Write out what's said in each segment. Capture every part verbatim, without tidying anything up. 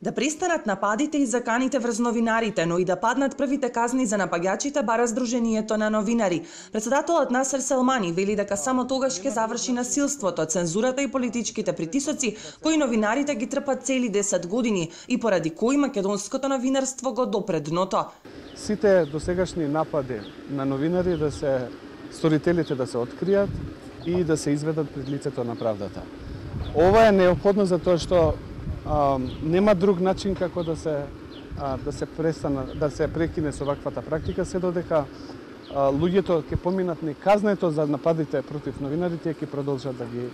Да престанат нападите и заканите врз новинарите, но и да паднат првите казни за напаѓачите, бара Сдруженијето на новинари. Председателот Насер Селмани вели дека само тогаш ќе заврши насилството, цензурата и политичките притисоци кои новинарите ги трпат цели десет години и поради кои македонското новинарство го допре дното. Сите досегашни напади на новинари да се сторителите да се откријат и да се изведат пред лицето на правдата. Ова е неопходно затоа што а, нема друг начин како да се а, да се престана да се прекине со ваквата практика, се додека а, луѓето ќе поминат неказнето за нападите против новинарите, ќе продолжат да ги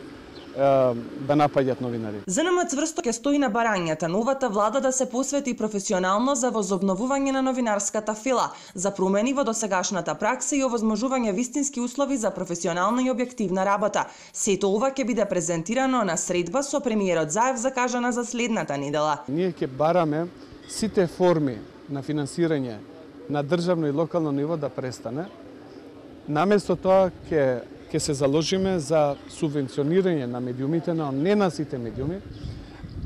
да напаѓаат новинари. ЗНМ цврсто ќе стои на барањата новата влада да се посвети професионално за возобновување на новинарската фила, за промени во досегашната пракса и овозможување вистински услови за професионална и објективна работа. Сето ова ќе биде презентирано на средба со премиерот Заев закажана за следната недела. Ние ќе бараме сите форми на финансирање на државно и локално ниво да престане. Наместо тоа ќе ќе се заложиме за субвенционирање на медиумите, но не на сите медиуми,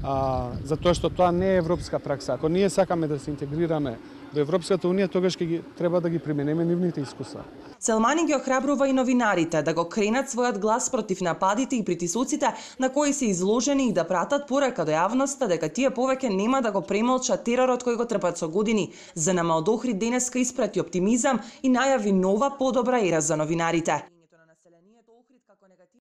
а, затоа што тоа не е европска пракса. Ако ние сакаме да се интегрираме до Европската унија, тогаш ќе ги треба да ги применеме нивните искуства. Селмани ги охрабрува и новинарите да го кренат својот глас против нападите и притисоците на кои се изложени и да пратат порака до јавноста дека тие повеќе нема да го премолчат теророт кој го трпат со години. ЗНМ од Охрид денеска испрати оптимизам и најави нова подобра ера за новинарите.